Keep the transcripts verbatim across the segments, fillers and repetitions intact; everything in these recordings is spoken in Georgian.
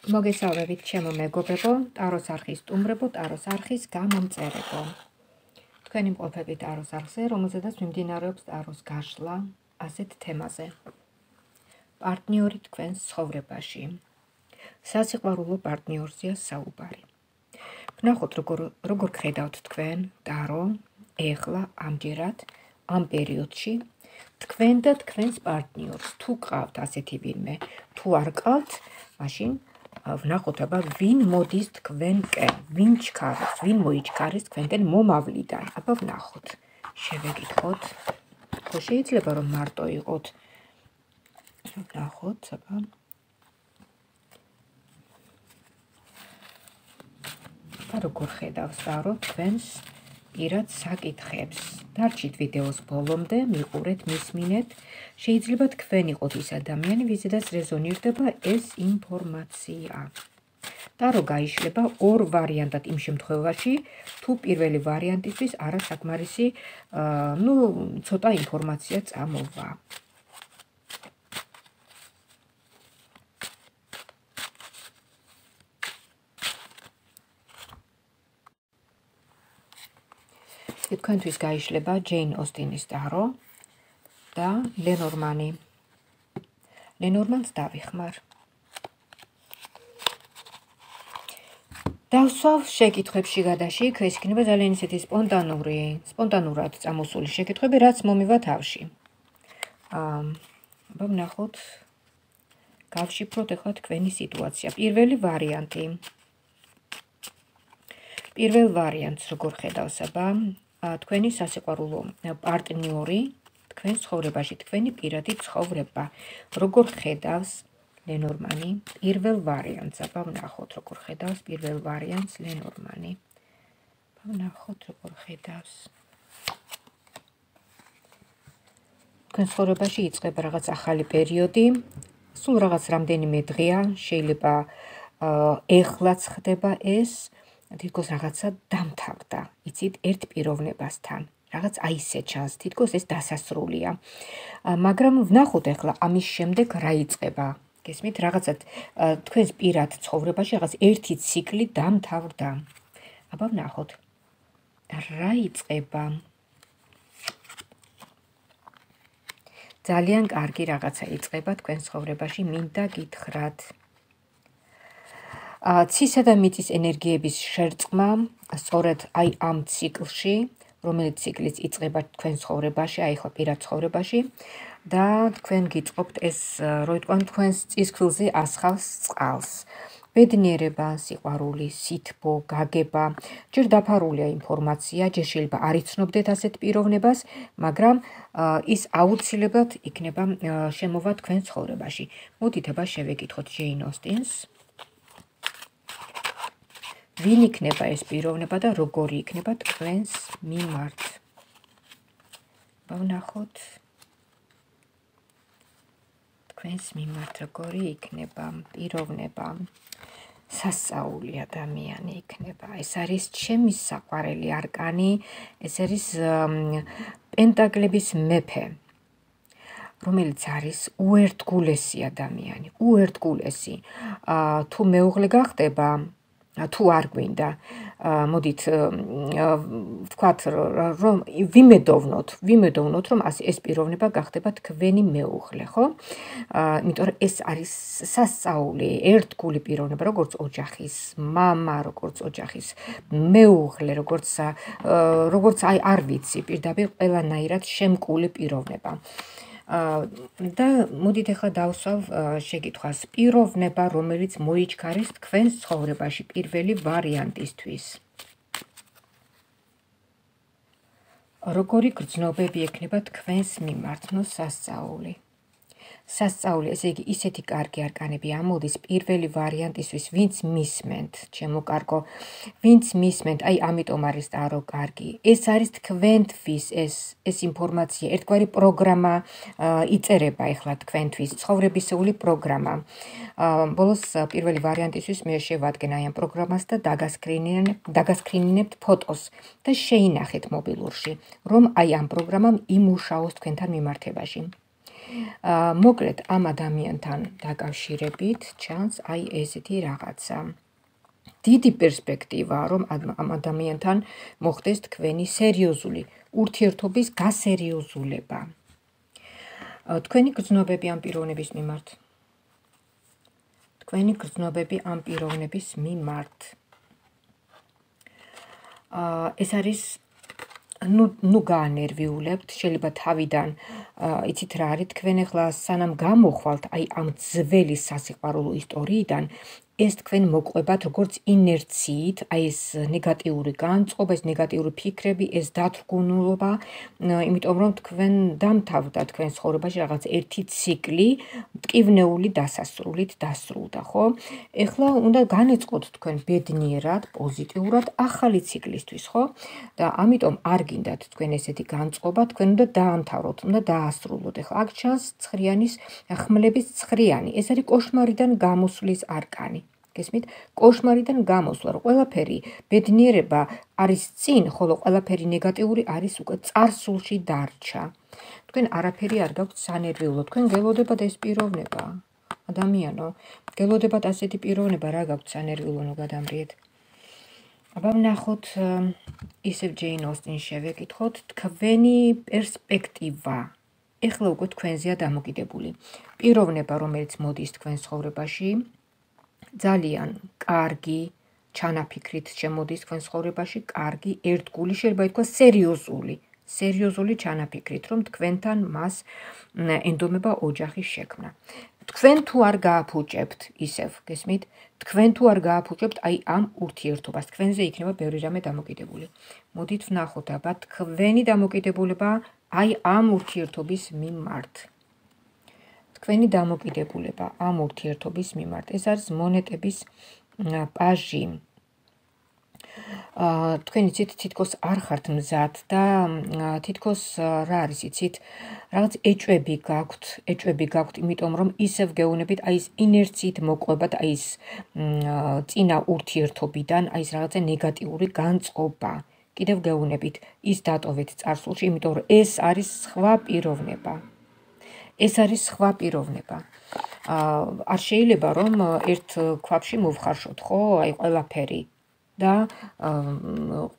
მოგესალმებით ჩემო მეგობრებო, ტაროს არხის სტუმრებო, ტაროს არხის გამომწერებო. თქვენი მყოფები ტაროს არხზე, რომელზედაც მიმდინარეობს ტაროს გაშლა ასეთ თემაზე. პარტნიორი თქვენს ცხოვრებაში. სასიყვარულო პარტნიორზეა საუბარი. ვნახოთ როგორ როგორ ხედავთ თქვენ ტარო ეხლა ამჯერად ამ პერიოდში თქვენ და თქვენს პარტნიორს. თუ გყავთ ასეთი ვინმე, თუ არ გყავთ, მაშინ ვნახოთ აბა ვინ მოდის თქვენკენ, ვინ ჩქარობს, ვინ მოიჩქარის თქვენკენ მომავლიდან. აბა ვნახოთ, შევეკითხოთ. ხო შეიძლება რომ მარტო იყოთ. ვნახოთ, აბა და როგორ ხედავს ტარო თქვენს პირად საკითხებს. დარჩით ვიდეოს ბოლომდე, მიყურეთ, მისმინეთ. შეიძლება თქვენ იყოთ ის ადამიანი, ვიზედაც რეზონირდება ეს ინფორმაცია. ტარო გაიშლება ორ ვარიანტად იმ შემთხვევაში, თუ პირველი ვარიანტისთვის არასაკმარისი, ნუ ცოტა ინფორმაცია წამოვა. თქვენთვის გაიშლება ჯეინ ოსტინის ტარო და ლენორმანი. ლენორმანს დავიხმარ. დავსვავ შეკითხვებში გადაშიქ, ეს იქნება ძალიან ისეთი სპონტანური, სპონტანურად წამოსული შეკითხვები, რაც მომივა თავში. აბა ვნახოთ, გავშიფროთ ახლა თქვენი სიტუაცია. პირველი ვარიანტი. პირველ ვარიანტს როგორ ხედავს აბა თქვენი სასიყვარულო პარტნიორი თქვენ ცხოვრებაში, თქვენი პირადი ცხოვრება. როგორ ხედავს ლენორმანი პირველ ვარიანტს. აბა ვნახოთ როგორ ხედავს პირველ ვარიანტს ლენორმანი. აბა ვნახოთ როგორ ხედავს. თქვენ ცხოვრებაში იწყება რაღაც ახალი პერიოდი. სულ რაღაც რამდენიმე დღეა, შეიძლება ეხლაც ხდება ეს. თითქოს რაღაცა დამთავრდა, იცით, ერთ პიროვნებასთან. რაღაც აი ისე ჩანს, თითქოს ეს დასასრულია. მაგრამ ვნახოთ ახლა ამის შემდეგ რა იწყება. გესმით, რაღაცა თქვენს პირად ცხოვრებაში რაღაც ერთი ციკლი დამთავრდა. აბა ვნახოთ. რა იწყება? ძალიან კარგი რაღაცა იწყება თქვენ ცხოვრებაში, მინდა გითხრათ. ცისა და მიწის ენერგიების შერწყმა, სწორედ აი ამ ციკლში, რომელიც ციკლიც იწყება თქვენ ცხოვრებაში, აი ხო პირად ცხოვრებაში და თქვენ გიწყობთ ეს, რო იტყვიან, თქვენს წისქვილზე ასხავს წყალს. ბედნიერება, სიყვარული, სითბო, გაგება, ჯერ დაფარულია ინფორმაცია, ჯერ შეიძლება არ იცნობდეთ ასეთ პიროვნებას, მაგრამ ის აუცილებლად იქნება შემოვა თქვენ ცხოვრებაში. მოდით აბა შევეკითხოთ ჯეინ ოსტინს. ვინ იქნება ეს პიროვნება და როგორი იქნება თქვენს მიმართ? ვნახოთ. თქვენს მიმართ როგორი იქნება პიროვნება? სასწაული ადამიანი იქნება. ეს არის ჩემი საყვარელი არკანი, ეს არის პენტაკლების მეფე, რომელიც არის უერთგულესი ადამიანი, უერთგულესი. თუ მეუღლე გახდება, თუ არ გვინდა, მოდით ვთქვათ, რომ ვიმედოვნოთ, ვიმედოვნოთ, რომ ეს პიროვნება გახდება თქვენი მეუღლე, ხო? იმიტომ რომ ეს არის სასწაული, ერთგული პიროვნება, როგორც ოჯახის მამა, როგორც ოჯახის მეუღლე, როგორც როგორც აი არ ვიცი, პირდაპირ ყველანაირად შემკული პიროვნება. და მოდით ახლა დავსვავ შეკითხვას. პიროვნება, რომელიც მოიჩქარის თქვენს ცხოვრებაში პირველი ვარიანტისთვის. როგორი გრძნობები ექნება თქვენს მიმართ? ნუ სასწაული. სასწაული, ესე იგი ისეთი კარგი არკანები ამოდის პირველი ვარიანტისთვის, ვინც მისმენთ, ჩემო კარგო, ვინც მისმენთ, აი ამიტომ არის ტარო კარგი. ეს არის თქვენთვის ეს ეს ინფორმაცია, ერთგვარი პროგრამა იწერება ახლა თქვენთვის, ცხოვრებისეული პროგრამა. ბოლოს პირველი ვარიანტისთვის მე შევადგენ აი ამ პროგრამას და დაგასკრინინებთ ფოტოს და შეინახეთ მობილურში, რომ აი ამ პროგრამამ იმუშაოს თქვენთან მიმართებაში. მოკლედ ამ ადამიანთან დაკავშირებით ჩანს აი ესეთი რაღაცა. დიდი პერსპექტივაა, რომ ამ ადამიანთან მოხდეს თქვენი სერიოზული ურთიერთობის გასერიოზულება. თქვენი გრძნობები ამ პიროვნების მიმართ. თქვენი გრძნობები ამ პიროვნების მიმართ. ეს არის ნუ ნუ გაანერვიულებთ, შეიძლება თავიდან იცით რა არის, თქვენ ახლა სანამ გამოხვალთ აი ამ ძველი სასიყვარულო ისტორიიდან, ეს თქვენ მოყვებათ როგორც ინერციით, აი ეს ნეგატიური განწყობა, ეს ნეგატიური ფიქრები, ეს დათრგუნულობა, იმიტომ რომ თქვენ დამთავრდა თქვენ ცხოვრებაში რაღაც ერთი ციკლი, მტკივნეული დასასრულით დასრულდა, ხო? ეხლა უნდა განეწყოთ თქვენ ბედნიერად, პოზიტიურად ახალი ციკლისთვის, ხო? და ამიტომ არ გინდათ თქვენ ესეთი განწყობა, თქვენ უნდა დაამთავროთ, უნდა დაასრულოთ. ეხლა აქ ჩანს ცხრიანის ხმლების ცხრიანი, ეს არის კოშმარიდან გამოსვლის არკანი. გესმით? კოშმარიდან გამოსვლა, რომ ყველაფერი ბედნიერება არის წინ, ხოლო ყველაფერი ნეგატიური არის უკვე წარსულში დარჩა. თქვენ არაფერი არ გაქვთ სანერვიულო, თქვენ გელოდებათ ეს პიროვნება. ადამიანო, გელოდებათ ასეთი პიროვნება, რა გაქვთ სანერვიულო გადამრიეთ. აბა ვნახოთ ისევ ჯეინ ოსტინს შევეკითხოთ თქვენი პერსპექტივა. ეხლა უკვე თქვენზეა დამოკიდებული. პიროვნება, რომელიც მოდის თქვენ ცხოვრებაში, ძალიან კარგი ჩანაფიქრით შემოდის თქვენ ცხოვრებაში, კარგი, ერთგული, შეიძლება ითქვას სერიოზული, სერიოზული ჩანაფიქრით, რომ თქვენთან მას ენდომება ოჯახის შექმნა. თქვენ თუ არ გააფუჭებთ ისევ, გესმით? თქვენ თუ არ გააფუჭებთ აი ამ ურთიერთობას, თქვენზე იქნება ბევრი რამე დამოკიდებული. მოდით ვნახოთ აბა თქვენი დამოკიდებულება აი ამ ურთიერთობის მიმართ. თქვენი დამოკიდებულება ამ ურთიერთობის მიმართ. ეს არის მონეტების პაჟი. თქვენ იცით, თითქოს არ ხართ მზად და თითქოს რა არის იცით, რაღაც ეჭვები გაქვთ, ეჭვები გაქვთ, იმიტომ რომ ისევ გეუნებით აი ეს ინერციით მოყვებათ აი ეს წინა ურთიერთობიდან, აი ეს რაღაცა ნეგატიური განწყობა. კიდევ გეუნებით ის დატოვეთ წარსულში, იმიტომ რომ ეს არის სხვა პიროვნება. ეს არის სხვა პიროვნება. არ შეიძლება რომ ერთ ქვაბში მოვხარშოთ, ხო, აი ყველაფერი და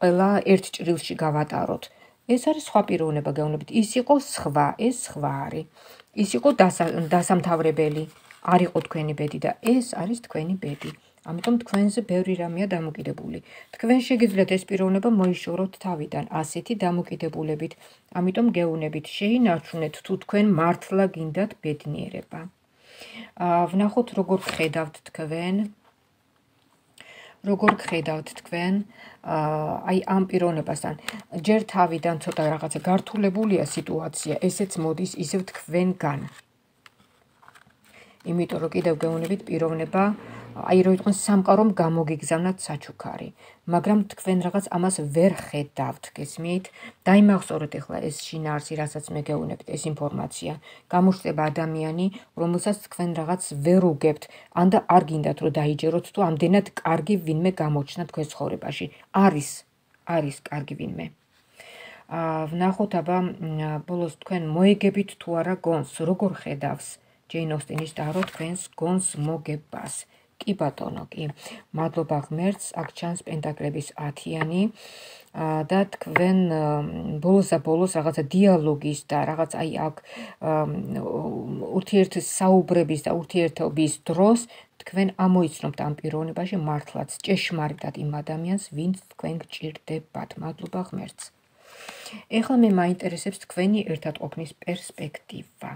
ყველა ერთ ჭრილში გავატაროთ. ეს არის სხვა პიროვნება, გეუბნებით. ის იყო სხვა, ეს სხვა არის. ის იყო დასამთავრებელი, არ იყო თქვენი ბედი და ეს არის თქვენი ბედი. ამიტომ თქვენზე ბევრი რამეა დამოკიდებული. თქვენ შეგიძლიათ ეს პიროვნება მოიშოროთ თავიდან, ასეთი დამოკიდებულებით. ამიტომ გეუბნებით, შეინარჩუნეთ თუ თქვენ მართლა გინდათ ბედნიერება. ვნახოთ როგორ ხედავთ თქვენ, როგორ ხედავთ თქვენ აი ამ პიროვნებასთან. ჯერ თავიდან ცოტა რაღაცა გართულებულია სიტუაცია, ესეც მოდის ისევ თქვენგან. იმიტომ რომ კიდევ გეუბნებით პიროვნება აი რო იყვნენ სამყარომ გამოგიგზავნათ საჩუქარი, მაგრამ თქვენ რაღაც ამას ვერ ხედავთ, გესმით? დაიმახსოვრეთ ახლა ეს შინაარსი, რასაც მე გეუბნებით, ეს ინფორმაცია. გამოჩნდება ადამიანი, რომელსაც თქვენ რაღაც ვერ უგებთ, ან და არ გინდათ რომ დაიჯეროთ თუ ამდენად კარგი ვინმე გამოჩნდა თქვენ ცხოვრებაში. არის, არის კარგი ვინმე. ვნახოთ აბა ბოლოს თქვენ მოეგებით თუ არა გონს, როგორ ხედავს ჯეინ ოსტინის ტარო თქვენს გონს მოგებას. კი ბატონო, კი. მადლობა ღმერთს, აქ ჩანს პენტაკლების ათიანი და თქვენ ბოლოს და ბოლოს რაღაცა დიალოგის და რაღაც აი აქ ურთიერთ საუბრების და ურთიერთობის დროს თქვენ ამოიცნობთ ამ პიროვნებაში მართლაც ჭეშმარიტად იმ ადამიანს, ვინც თქვენ გჭირდებათ. მადლობა ღმერთს. ეხლა მე მაინტერესებს თქვენი ერთად ყოფნის პერსპექტივა.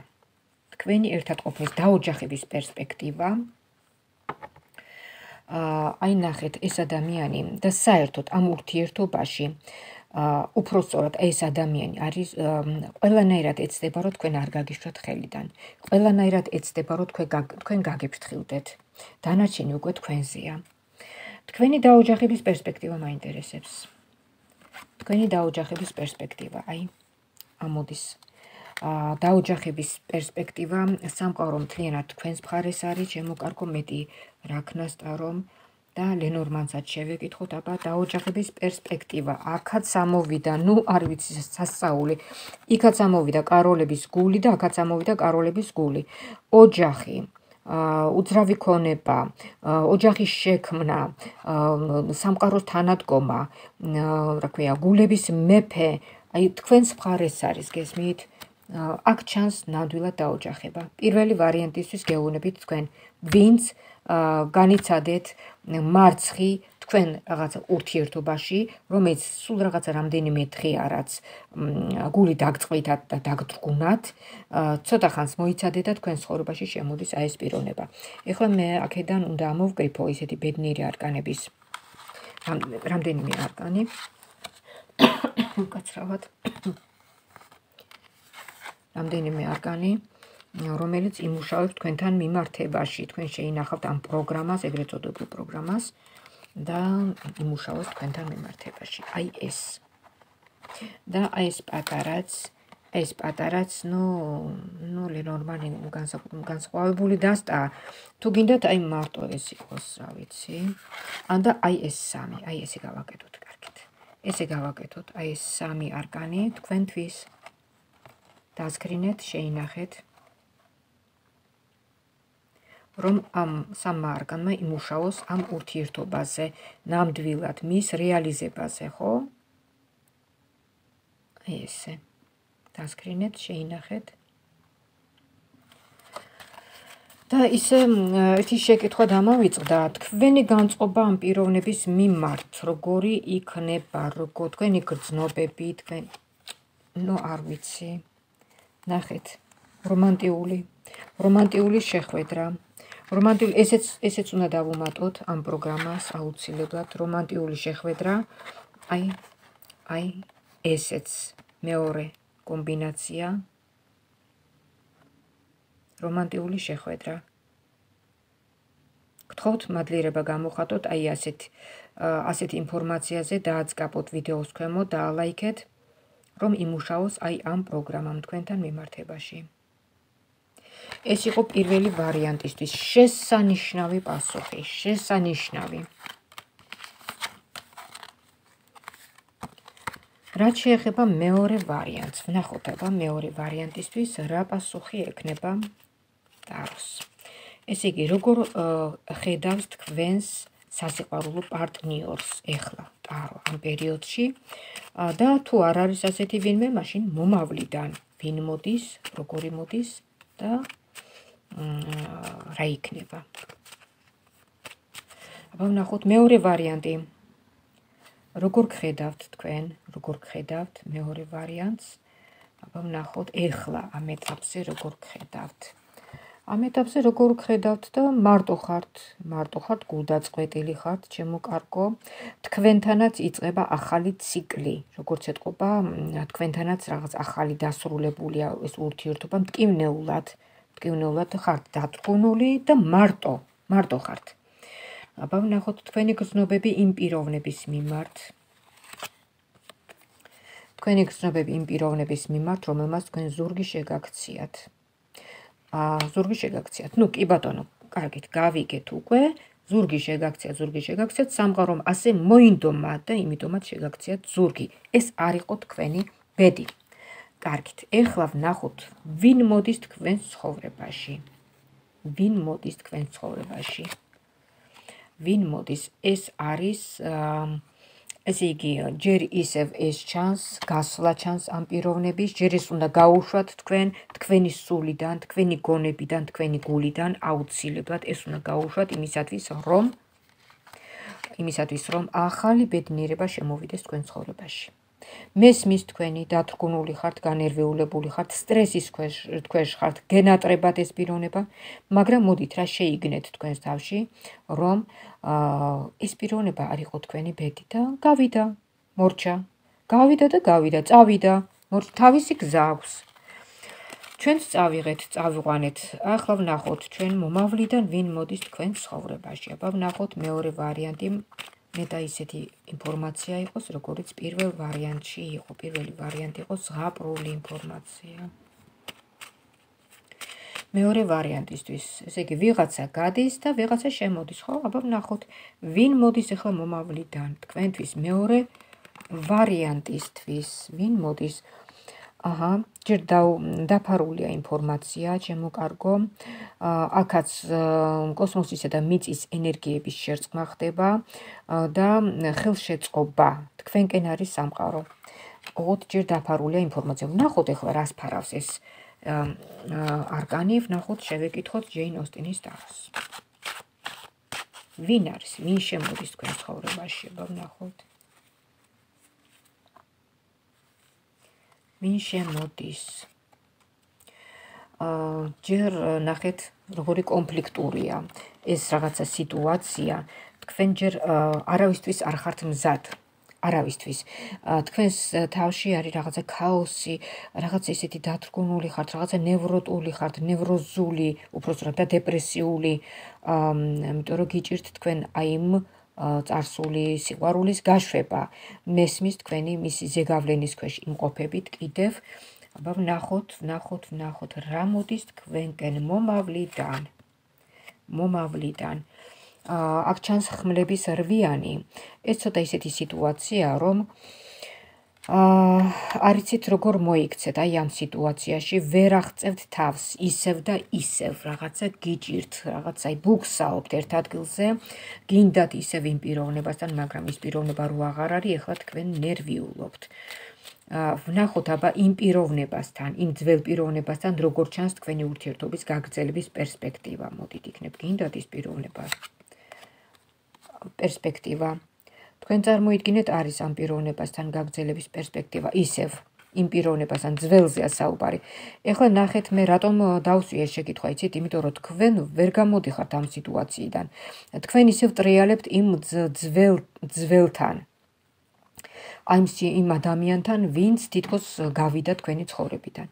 თქვენი ერთად ყოფნის დაოჯახების პერსპექტივა. აი ნახეთ, ეს ადამიანი და საერთოდ ამ ურთიერთობაში უფრო სწორად ეს ადამიანი არის ყველანაირად ეცდება, რომ თქვენ არ გაგიშვათ ხელიდან. ყველანაირად ეცდება, რომ თქვენ გაგიფრთხილდეთ. დანარჩენი უკვე თქვენზეა. თქვენი დაოჯახების პერსპექტივა მაინტერესებს. თქვენი დაოჯახების პერსპექტივა, აი ამოდის. დაოჯახების პერსპექტივა სამყარო მთლიანად თქვენს მხარეს არის, შემოკარგო მეტი რაქნას ტარომ, და ლენორმანსაც შევეკითხოთ, აბა დაოჯახების პერსპექტივა. აქაც ამოვიდა, ნუ არ ვიცი სასწაული. იქაც ამოვიდა კაროლების გული და აქაც ამოვიდა კაროლების გული. ოჯახი, უძრავი ქონება, ოჯახის შექმნა, სამყაროს თანადგომა, რა ქვია, გულების მეფე, აი თქვენს მხარეს არის, გესმით? აქ ჩანს ნამდვილად დაოჯახება. პირველი ვარიანტისთვის გეუბნებით თქვენ, ვინც განიცადეთ მარცხი თქვენ რაღაცა ურთიერთობაში, რომელიც სულ რაღაცა რამდენიმე დღეა, რაც გული დაგწყვიტათ და დაგდრგუნათ, ცოტა ხანს მოიცადეთ და თქვენ ცხოვრებაში შემოდის აი ეს პიროვნება. ეხლა მე აქედან უნდა ამოვკრიფო ისეთი ბედნიერი არკანების რამდენიმე არკანი. უკაცრავად. რამდენიმე არკანი, რომელიც იმუშავებს თქვენთან მიმართებაში. თქვენ შეინახავთ ამ პროგრამას, ეგრეთ წოდებულ პროგრამას და იმუშავებს თქვენთან მიმართებაში. აი ეს. და აი ეს პატარაც, ეს პატარაც, ნუ, ნუ ლენორმანი განსხვავებული დასტა. თუ გინდათ აი მარტო ეს იყოს, რა ვიცი. ანდა აი ეს სამი, აი ესე გავაკეთოთ, კარგით. ესე გავაკეთოთ, აი ეს სამი არკანი თქვენთვის. დასკრინეთ, შეინახეთ. რომ ამ სამმა არკანმა იმუშაოს ამ ურთიერთობაზე, ნამდვილად მის რეალიზებაზე, ხო? აი ესე. დასკრინეთ, შეინახეთ. და ისე ერთი შეკითხვა დამავიწყდა, თქვენი განწყობა ამ პიროვნების მიმართ, როგორი იქნება, როგორ თქვენი გრძნობები, თქვენ ნუ არ ვიცი. ნახეთ, რომანტიული, რომანტიული შეხვედრა. რომანტიული, ესეც ესეც უნდა დავუმატოთ ამ პროგრამას აუცილებლად, რომანტიული შეხვედრა. აი, აი, ესეც მეორე კომბინაცია. რომანტიული შეხვედრა. გთხოვთ მადლიერება გამოხატოთ აი ასეთ ასეთ ინფორმაციაზე დააწყაპოთ ვიდეოს ქვემოთ და ალაიქეთ, რომ იმუშაოს აი ამ პროგრამამ თქვენთან მიმართებაში. ეს იყო პირველი ვარიანტისთვის შესანიშნავი პასუხი, შესანიშნავი. რაც შეეხება მეორე ვარიანტს, ვნახოთ აბა მეორე ვარიანტისთვის რა პასუხი ექნება ტაროს. ესე იგი, როგორ ხედავს თქვენს სასიყვარულო პარტნიორს ეხლა ტარო ამ პერიოდში და თუ არ არის ასეთი ვინმე, მაშინ მომავლიდან ვინ მოდის, როგორი მოდის და რა იქნება. აბა ვნახოთ მეორე ვარიანტი. როგორ გხედავთ თქვენ, როგორ გხედავთ მეორე ვარიანტს? აბა ვნახოთ ეხლა ამ ეტაპზე როგორ გხედავთ. ამ ეტაპზე როგორ გხედავთ და მარტო ხართ, მარტო ხართ, გულდაწყვეტილი ხართ, ჩემო კარგო. თქვენთანაც იწყება ახალი ციკლი, როგორც ეთყობა, თქვენთანაც რაღაც ახალი დასრულებულია ეს ურთიერთობა, მტკივნეულად, მტკივნეულად ხართ დათრგუნული და მარტო, მარტო ხართ. აბა ვნახოთ თქვენი გრძნობები იმ პიროვნების მიმართ. თქვენი გრძნობები იმ პიროვნების მიმართ, რომელმაც თქვენ ზურგი შეგაქციათ. ზურგი შეგაქციათ. ნუ კი ბატონო, კარგით, გავიგეთ უკვე. ზურგი შეგაქციათ, ზურგი შეგაქციათ, სამყარომ ასე მოინდომა და იმიტომაც შეგაქციათ ზურგი. ეს არ იყო თქვენი ბედი. კარგით, ეხლა ვნახოთ, ვინ მოდის თქვენს ცხოვრებაში. ვინ მოდის თქვენს ცხოვრებაში. ვინ მოდის? ეს არის ესე იგი, ჯერ ისევ ეს ჩანს, გასვლა ჩანს ამ პიროვნების, ჯერ ის უნდა გაუშვათ თქვენ, თქვენი სულიდან, თქვენი გონებიდან, თქვენი გულიდან, აუცილებლად ეს უნდა გაუშვათ იმისათვის, რომ იმისათვის, რომ ახალი ბედნიერება შემოვიდეს თქვენ ცხოვრებაში. მესმის თქვენი დათრგუნული ხართ, განერვიულებული ხართ, სტრესის ქვეშ ხართ, გენატრებათ ეს პიროვნება, მაგრამ მოდით რა შეიგნეთ თქვენს თავში, რომ ეს პიროვნება არ იყო თქვენი ბედი და გავიდა, მორჩა, გავიდა და გავიდა, წავიდა, თავისი გზა აქვს. ჩვენც წავიღეთ, წავიყვანეთ. ახლა ვნახოთ ჩვენ მომავლიდან ვინ მოდის თქვენს ცხოვრებაში. აბა ვნახოთ მეორე ვარიანტი. მე და ისეთი ინფორმაცია იყოს, როგორც პირველ ვარიანტში იყო. პირველი ვარიანტი იყო ზღაპრული ინფორმაცია. მეორე ვარიანტისთვის, ესე იგი ვიღაცა გადის და ვიღაცა შემოდის, ხო? აბა ვნახოთ, ვინ მოდის ახლა მომავლიდან. თქვენთვის მეორე ვარიანტისთვის, ვინ მოდის? აჰა, ჯერ დაფარულია ინფორმაცია, ჩემო კარგო. აქაც კოსმოსისა და მიწის ენერგიების შერწყმა ხდება და ხელშეწყობა. თქვენკენ არის სამყარო. ოღონდ ჯერ დაფარულია ინფორმაცია. ვნახოთ ახლა რას ფარავს ეს არკანი, ვნახოთ, შევეკითხოთ ჯეინ ოსტინის ტაროს. ვინ არის? ვინ შემოდის თქვენ ცხოვრებაში? ვნახოთ. ვინ შემოდის? ჯერ ნახეთ, როგორი კონფლიქტურია ეს რაღაცა სიტუაცია. თქვენ ჯერ არავისთვის არ ხართ მზად. არავისთვის. თქვენს თავში არის რაღაცა ქაოსი, რაღაცა ისეთი დათრგუნული ხართ, რაღაცა ნევროტული ხართ, ნევროზული, უпроსტად და დეპრესიული, იმიტომ რომ გიჭირთ თქვენ აი იმ წარსული სიყვარულის გაშვება. მესმის თქვენი მისი ზეგავლენის ქვეშ იმყოფებით კიდევ. აბა ვნახოთ, ვნახოთ, ვნახოთ რა მოდის თქვენკენ მომავლიდან. მომავლიდან. აქ ჩანს ხმლების რვიანი. ეს ცოტა ისეთი სიტუაცია, რომ არ იცით როგორ მოიქცეთ აი ამ სიტუაციაში, ვერ აღწევთ თავს ისევ და ისევ, რაღაცა გიჭირთ, რაღაცა აი ბუქსაობთ ერთ ადგილზე, გინდათ ისევ იმ პიროვნებასთან, მაგრამ ის პიროვნება რო აღარ არის, ეხლა თქვენ ნერვიულობთ. ვნახოთ აბა იმ პიროვნებასთან, იმ ძველ პიროვნებასთან, როგორ ჩანს თქვენი ურთიერთობის გაგრძელების პერსპექტივა. მოდით, იქნებ გინდათ ის პიროვნება. პერსპექტივა. თქვენ წარმოიდგინეთ, არის ამ პიროვნებასთან გაგრძელების პერსპექტივა, ისევ იმ პიროვნებასთან ძველზეა საუბარი. ეხლა ნახეთ, მე რატომ დავსვი ეს შეკითხვა, იცით, იმიტომ რომ თქვენ ვერ გამოდიხართ ამ სიტუაციიდან. თქვენ ისევ ტრიალებთ იმ ძველ ძველთან. აი იმ ადამიანთან, ვინც თითქოს გავიდა თქვენი ცხოვრებიდან.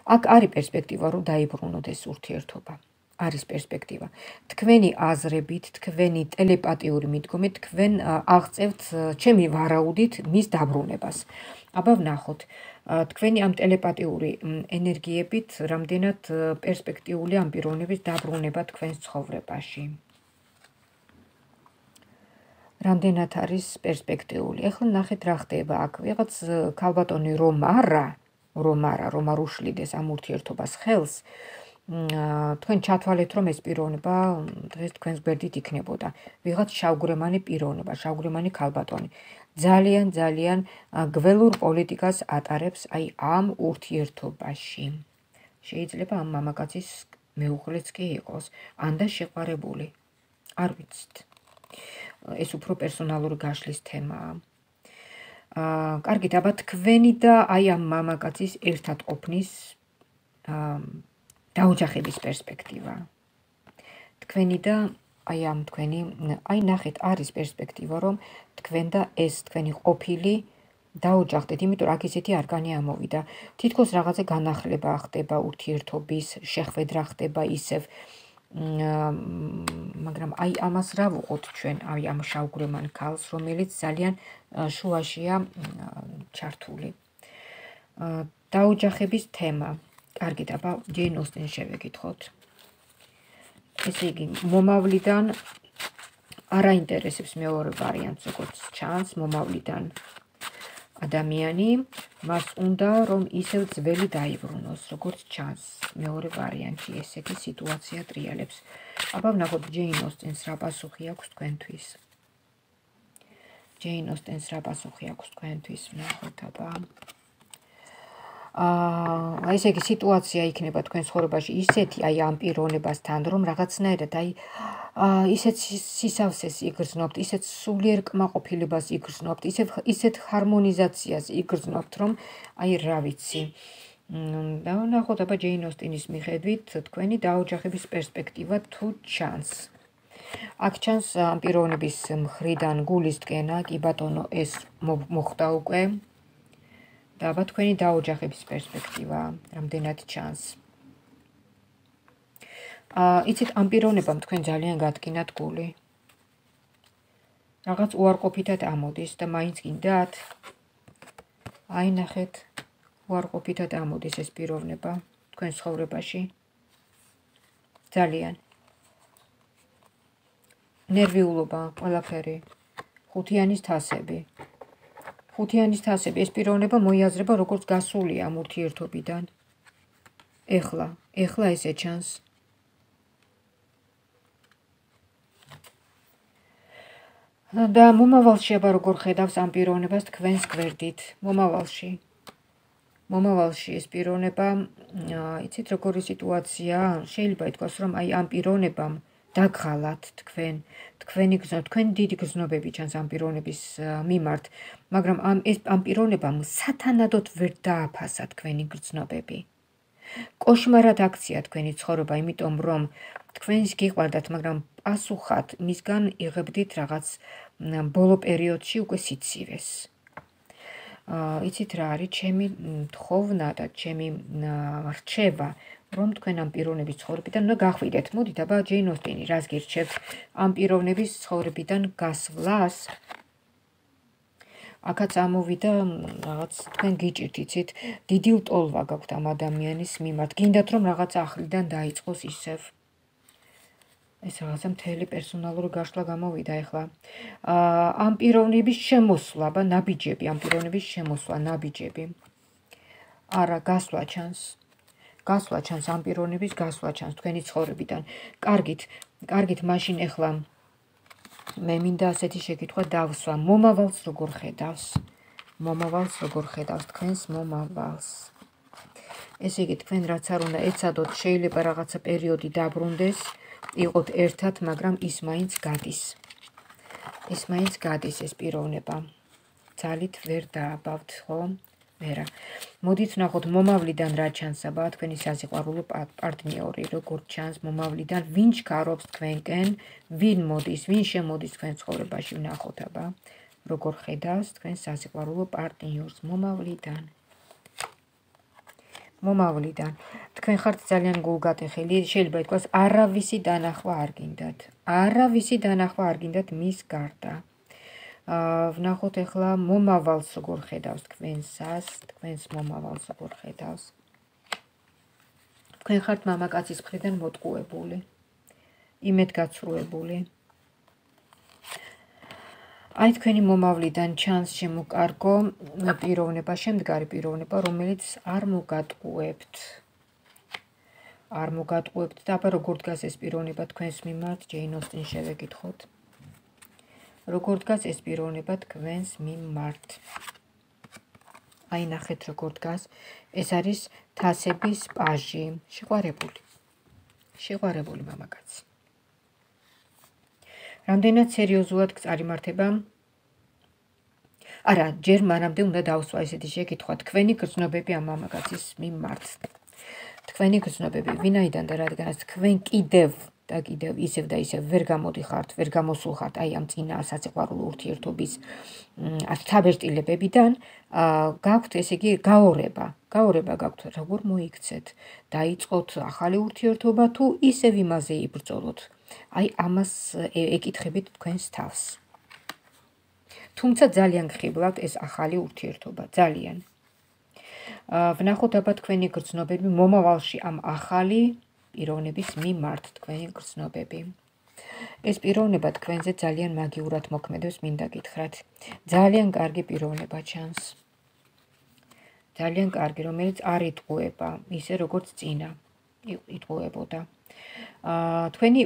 აქ არის პერსპექტივა, რომ დაიბრუნოთ ეს ურთიერთობა. არის პერსპექტივა. თქვენი აზრებით, თქვენი ტელეპათიური მიდგომით, თქვენ აღწევთ ჩემი ვარაუდით მის დაბრუნებას. აბა ვნახოთ, თქვენი ამ ტელეპათიური ენერგიებით რამდენად პერსპექტიული ამ პიროვნების დაბრუნება თქვენს ცხოვრებაში. რამდენად არის პერსპექტიული. ეხლა ნახეთ რა ხდება აქ. ვიღაც ქალბატონი რომ არა, რომ არა, რომ არ უშლიდეს ამ ურთიერთობას ხელს, თქვენ ჩათვალეთ, რომ ეს პიროვნება დღეს თქვენს გვერდით იქნებოდა. ვიღაც შავგვრემანი პიროვნება, შავგვრემანი ქალბატონი. ძალიან, ძალიან გველურ პოლიტიკას ატარებს აი ამ ურთიერთობაში. შეიძლება ამ მამაკაცის მეუღლეც კი იყოს, ან და შეყვარებული. არ ვიცით. ეს უფრო პერსონალური გაშლის თემაა. კარგით, აბა თქვენი და აი ამ მამაკაცის ერთად ყოფნის დაოჯახების პერსპექტივა. თქვენი და აი ამ თქვენი, აი ნახეთ, არის პერსპექტივა, რომ თქვენ და ეს თქვენი ყოფილი დაოჯახდეთ, იმიტომ რომ აქ ისეთი არკანი ამოვიდა. თითქოს რაღაცა განახლება ხდება ურთიერთობის, შეხვედრა ხდება ისევ, მაგრამ აი ამას რა ვუყოთ ჩვენ, აი ამ შავგვრემან ქალს, რომელიც ძალიან შუაშია ჩართული. დაოჯახების თემა. კარგით, აბა ჯეინ ოსტინს შევეკითხოთ. ესე იგი, მომავლიდან არ აინტერესებს მეორე ვარიანტს, როგორც ჩანს, მომავლიდან ადამიანი, მას უნდა, რომ ისევ ძველი დაიბრუნოს, როგორც ჩანს, მეორე ვარიანტი, ესეთი სიტუაცია ტრიალებს. აბა ვნახოთ, ჯეინ ოსტინს რა პასუხი აქვს თქვენთვის. ჯეინ ოსტინს რა პასუხი აქვს თქვენთვის, ვნახოთ, აბა. აა, ესე იგი, სიტუაცია იქნება თქვენ ცხოვრებაში ისეთი, აი ამ პიროვნებასთან, რომ რაღაცნაირად აი ისეთ სისავსეს იგრძნობთ, ისეთ სულიერ კმაყოფილებას იგრძნობთ, ისეთ ჰარმონიზაციას იგრძნობთ, რომ აი რა ვიცი. და ვნახოთ, აბა ჯეინ ოსტინის მიხედვით თქვენი დაოჯახების პერსპექტივა თუ ჩანს. აქ ჩანს ამ პიროვნების მხრიდან გულისწყენა, კი ბატონო, ეს მოხდა უკვე. და აბა თქვენი დაოჯახების პერსპექტივა რამდენად ჩანს. იცით, ამ პიროვნებამ თქვენ ძალიან გატკინათ გული. რაღაც უარყოფითად ამოდის და მაინც გინდათ. აი ნახეთ, უარყოფითად ამოდის ეს პიროვნება თქვენ ცხოვრებაში. ძალიან. ნერვიულობა, ყველაფერი. ხუთიანის თასები. ხუთიანის თასები, ეს პიროვნება მოიაზრება როგორც გასული ამ ურთიერთობიდან. ეხლა, ეხლა ესე ჩანს. და მომავალში აბა როგორ ხედავს ამ პიროვნებას თქვენს გვერდით, მომავალში. მომავალში ეს პიროვნება, იცით როგორი სიტუაცია, შეიძლება ითქვას, რომ აი ამ პიროვნებამ დაგხალათ თქვენ, თქვენი გზნობა, თქვენ დიდი გზნობები ჩანს ამ პიროვნების მიმართ, მაგრამ ამ ეს ამ პიროვნებამ სათანადოდ ვერ დააფასა თქვენი გზნობები. კოშმარად აქცია თქვენი ცხოვრება, იმიტომ რომ თქვენს გიყვარდათ, მაგრამ პასუხად მისგან იღებდით რაღაც ბოლო პერიოდში უკვე სიცივეს. იცით რა არის, ჩემი თხოვნა და ჩემი რჩევა, რომ თქვენ ამ პიროვნების ცხოვრებიდან უნდა გახვიდეთ. მოდით, აბა ჯეინ ოსტინი რას გირჩევთ ამ პიროვნების ცხოვრებიდან გასვლას? აქაც ამოვიდა რაღაც თქვენ გიჭირთ, იცით, დიდი ლტოლვა გაქვთ ამ ადამიანის მიმართ. გინდათ რომ რაღაც ახლიდან დაიწყოს ისევ. ეს რაღაცა მთელი პერსონალური გაშლა გამოვიდა ეხლა. ამ პიროვნების შემოსვლა, აბა ნაბიჯები, ამ პიროვნების შემოსვლა, ნაბიჯები. არა, გასვლა ჩანს. გასვლა ჩანს ამ პიროვნების გასვლა ჩანს თქვენი ცხოვრებიდან. კარგით, კარგით, მაშინ ეხლა მე მინდა ასეთი შეკითხვა დავსვა. მომავალს როგორ ხედავს? მომავალს როგორ ხედავს თქვენს მომავალს? ესე იგი, თქვენ რაც არ უნდა ეცადოთ, შეიძლება რაღაცა პერიოდი დაბრუნდეს, იყოთ ერთად, მაგრამ ის მაინც გადის. ის მაინც გადის ეს პიროვნება. ძალით ვერ დააბავთ, ხო? ვერა. მოდით ვნახოთ მომავლიდან რა ჩანს, აბა თქვენი სასიყვარულო პარტნიორი, როგორ ჩანს მომავლიდან, ვინ ჩქარობს თქვენკენ, ვინ მოდის, ვინ შემოდის თქვენ ცხოვრებაში, ვნახოთ, აბა როგორ ხედავს თქვენ სასიყვარულო პარტნიორს მომავლიდან. მომავლიდან. თქვენ ხართ ძალიან გულგატეხილი, შეიძლება ითქვას, არავისი დანახვა არ გინდათ. არავისი დანახვა არ გინდათ მის გარდა. ვნახოთ ეხლა მომავალს როგორ ხედავს თქვენსას, თქვენს მომავალს როგორ ხედავს. თქვენ ხართ მამაკაცის მხრიდან მოტყუებული, იმედგაცრუებული. აი თქვენი მომავლიდან ჩანს შემოკარგო პიროვნება, შემდგარი პიროვნება, რომელიც არ მოგატყუებთ. არ მოგატყუებთ და აბა როგორ დგას ეს პიროვნება თქვენს მიმართ, ჯეინ ოსტინ შევეკითხოთ. როგორ დგას ეს პიროვნება თქვენს მიმართ? აი ნახეთ როგორ დგას. ეს არის თასების პაჟი, შეყვარებული. შეყვარებული მამაკაცი. რამდენად სერიოზულად წარიმართება? არა, ჯერ მანამდე უნდა დავსვა ესეთი შეკითხვა, თქვენი გრძნობები ამ მამაკაცის მიმართ. თქვენი გრძნობები, ვინაიდან და რადგანაც თქვენ კიდევ და კიდევ ისევ და ისევ ვერ გამოდიხართ, ვერ გამოსულ ხართ აი ამ წინა სასიყვარულო ურთიერთობის თაბერტილებებიდან, გაქვთ ესე იგი გაორება, გაორება გაქვთ, როგორ მოიქცეთ, დაიწყოთ ახალი ურთიერთობა თუ ისევ იმაზე იბრძოლოთ. აი ამას ეკითხებით თქვენს თავს. თუმცა ძალიან გხიბლავთ ეს ახალი ურთიერთობა, ძალიან. ვნახოთ აბა თქვენი გრძნობები მომავალში ამ ახალი პიროვნების მიმართ თქვენი გრძნობები. ეს პიროვნება თქვენზე ძალიან მაგიურად მოქმედებს, მინდა გითხრათ. ძალიან კარგი პიროვნება ჩანს. ძალიან კარგი, რომელიც არ იტყუება, ისე როგორც წინა იტყუებოდა. თქვენი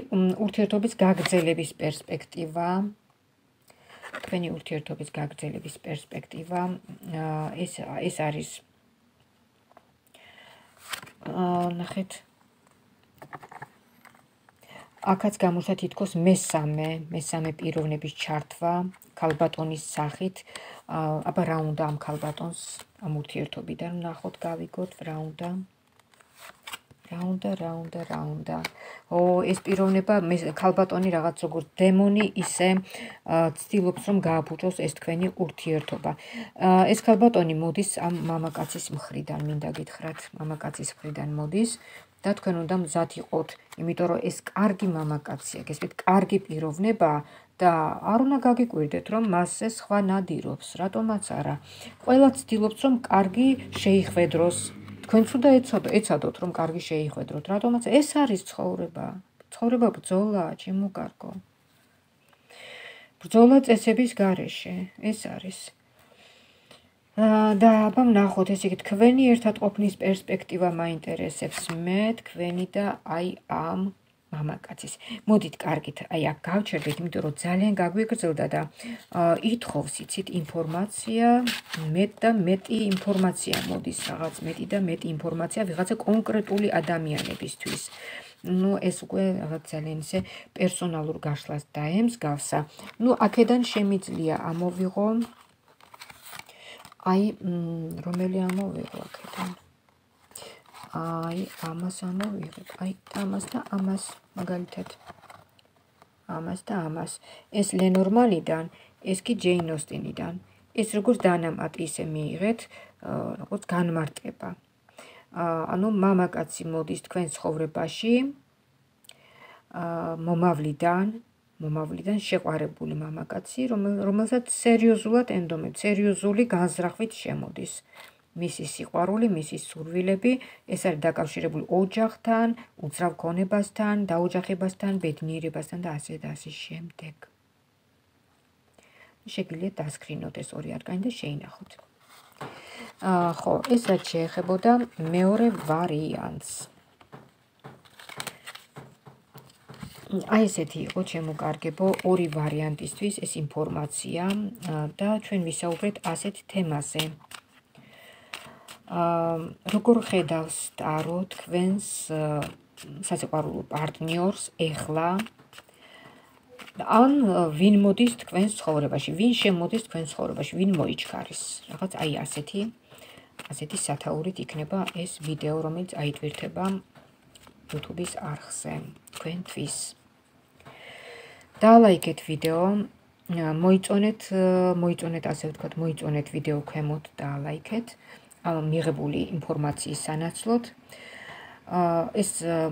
ურთიერთობის გაგრძელების პერსპექტივა, თქვენი ურთიერთობის გაგრძელების პერსპექტივა, ეს ეს არის ნახეთ. აქაც გამოსა თითქოს მესამე, მესამე პიროვნების ჩართვა ქალბატონის სახით. აბა რა უნდა ამ ქალბატონს ამ ურთიერთობიდან ვნახოთ, გავიგოთ რა უნდა. რა უნდა, რა უნდა, რა უნდა. ო, ეს პიროვნება ქალბატონი რაღაც როგორც დემონი ისე ცდილობს რომ გააფუჭოს ეს თქვენი ურთიერთობა. ეს ქალბატონი მოდის ამ მამაკაცის მხრიდან, მინდა გითხრათ, მამაკაცის მხრიდან მოდის. და თქვენ უნდა მზად იყოთ, იმიტომ რომ ეს კარგი მამაკაცია, გესმით, კარგი პიროვნება და არ უნდა გაგიკვირდეთ, რომ მასზე სხვა ნადირობს, რატომაც არა. ყველა ცდილობს, რომ კარგი შეიხვედროს თქვენც უნდა ეცადოთ, რომ კარგი შეიხვედროთ, რატომაც ეს არის ცხოვრება. ცხოვრება ბრძოლაა, ჩემო კარგო. ბრძოლა წესების გარეშე, ეს არის. და აბა ვნახოთ, ესე იგი, თქვენი ერთად ყოფნის პერსპექტივა მაინტერესებს მე, თქვენი და აი ამ მამაკაცის. მოდით, კარგით, აი აქ გავჩერდით, იმიტომ რომ ძალიან გაგვიგრძელდა და ითხოვს, იცით, ინფორმაცია, მეტ და მეტი ინფორმაცია მოდის, რაღაც მეტი და მეტი ინფორმაცია ვიღაცა კონკრეტული ადამიანებისთვის. ნუ ეს უკვე რაღაც ძალიან ისე პერსონალურ გაშლას დაემსგავსა. ნუ აქედან შემიძლია ამოვიღო აი რომელი ამოვიღო აქედან. აი ამას ამოვიღებ, აი ამას და ამას მაგალითად. ამას და ამას. ეს ლენორმანიდან, ეს კი ჯეინ ოსტინიდან. ეს როგორც დანამატი ისე მიიღეთ, როგორც განმარტება. ანუ მამაკაცი მოდის თქვენ ცხოვრებაში, მომავლიდან, მომავლიდან შეყვარებული მამაკაცი, რომელსაც სერიოზულად ენდომეთ, სერიოზული განზრახვით შემოდის. მისი სიყვარული, მისი სურვილები, ეს არის დაკავშირებული ოჯახთან, უძრავ გონებასთან, დაოჯახებასთან, ბედნიერებასთან და ასე და ასე შემდეგ. შეგიძლიათ დასკრინოთ ეს ორი არკანი და შეინახოთ. ხო, ეს რაც შეეხებოდა მეორე ვარიანტს. აი ესეთი იყო ჩემო კარგებო, ორი ვარიანტისთვის ეს ინფორმაცია და ჩვენ ვისაუბრეთ ასეთ თემაზე. როგორ ხედავს ტარო თქვენს სასიყვარულო პარტნიორს ეხლა? ან ვინ მოდის თქვენს ცხოვრებაში, ვინ შემოდის თქვენს ცხოვრებაში, ვინ მოიჩქარის? რაღაც აი ასეთი ასეთი სათაურით იქნება ეს ვიდეო, რომელიც აიტვირთება YouTube-ის არხზე თქვენთვის. დაალაიქეთ ვიდეო, მოიწონეთ, მოიწონეთ ასე ვთქვათ, მოიწონეთ ვიდეო ქვემოთ დაალაიქეთ, მიღებული ინფორმაციის სანაცვლოდ. ეს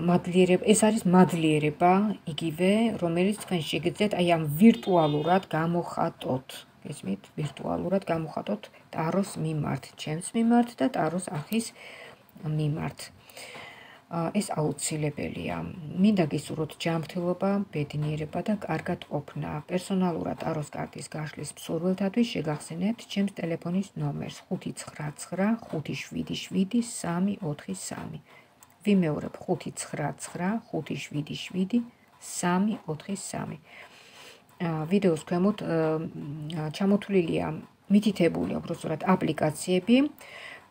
მადლიერება, ეს არის მადლიერება, იგივე, რომელიც თქვენ შეგიძლიათ აი ამ ვირტუალურად გამოხატოთ. გესმით, ვირტუალურად გამოხატოთ ტაროს მიმართ, ჩემს მიმართ და ტაროს არხის მიმართ. ეს აუცილებელია. მინდა გისურვოთ ჯანმრთელობა, ბედნიერება და კარგად ყოფნა. პერსონალურად ტაროს კარტის გაშლის მსურველთათვის შეგახსენებთ ჩემს ტელეფონის ნომერს ხუთი ცხრა ცხრა ხუთი შვიდი შვიდი სამი ოთხი სამი. ვიმეორებ ხუთი ცხრა ცხრა ხუთი შვიდი შვიდი სამი ოთხი სამი. ვიდეოს ქვემოთ ჩამოთვლილია მითითებული უბრალოდ აპლიკაციები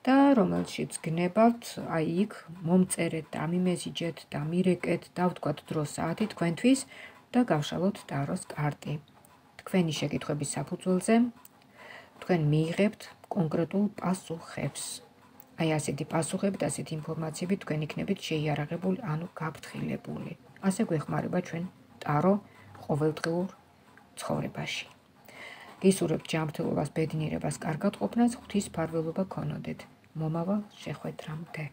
და რომელშიც გნებავთ, აი იქ მომწერეთ და მიმესიჯეთ და მირეკეთ და ვთქვათ დრო საათი თქვენთვის და გავშალოთ ტაროს კარტი. თქვენი შეკითხვების საფუძველზე თქვენ მიიღებთ კონკრეტულ პასუხებს. აი ასეთი პასუხები და ასეთი ინფორმაციები თქვენ იქნებით შეიარაღებული, ანუ გაფრთხილებული. ასე გვეხმარება ჩვენ ტარო ყოველდღიურ ცხოვრებაში. გისურვებთ ჯანმრთელობას, ბედნიერებას, კარგად ყოფნას, ღვთის მფარველობა გქონოდეთ. მომავალ შეხვედრამდე.